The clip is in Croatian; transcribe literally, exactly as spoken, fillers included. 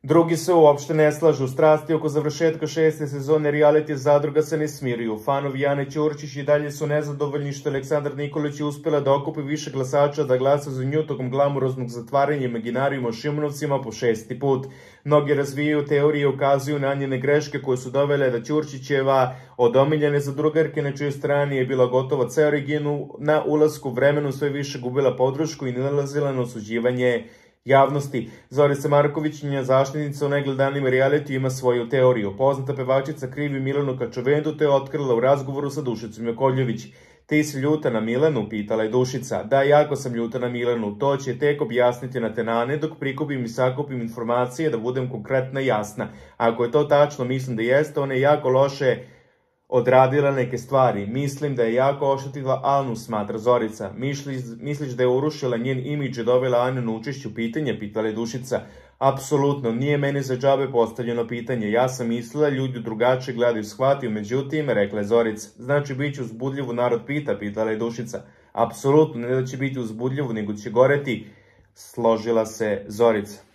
Drugi se uopšte ne slažu. Strasti oko završetka šeste sezone reality Zadruga se ne smiruju. Fanovi Jane Ćurčić i dalje su nezadovoljni što Aleksandar Nikolić je uspela da okupi više glasača da glasa za nju tokom glamuroznog zatvaranja imaginarijuma Šimunovcima po šesti put. Mnogi razvijaju teorije i ukazuju na njene greške koje su dovele da Ćurčićeva od omiljene zadrugarke na čijoj strani je bila gotova ceo region na ulasku vremenu sve više gubila podršku i nalazila na osuđivanje javnosti. Zorica Marković, njena zaštitnica u najgledanijim reality, ima svoju teoriju. Poznata pevačica krivi Milanu Kačavendu, te je otkrila u razgovoru sa Dušicom Jakovljević. Ti si ljuta na Milanu, pitala je Dušica. Da, jako sam ljuta na Milanu, to će tek objasniti na tenane dok prikupim i sakupim informacije da budem konkretna i jasna. Ako je to tačno, mislim da jeste, ona je jako loše odradila neke stvari. Mislim da je jako oštetila Anu, smatra Zorica. Misliš, misliš da je urušila njen imidž i dovela Anu na učešću pitanja, pitala je Dušica. Apsolutno, nije meni za džabe postavljeno pitanje. Ja sam mislila, ljudi drugačije gledaju, shvatio, međutim, rekla je Zorica. Znači, bit će uzbudljivo, narod pita, pitala je Dušica. Apsolutno, ne da će biti uzbudljivo, nego će goreti, složila se Zorica.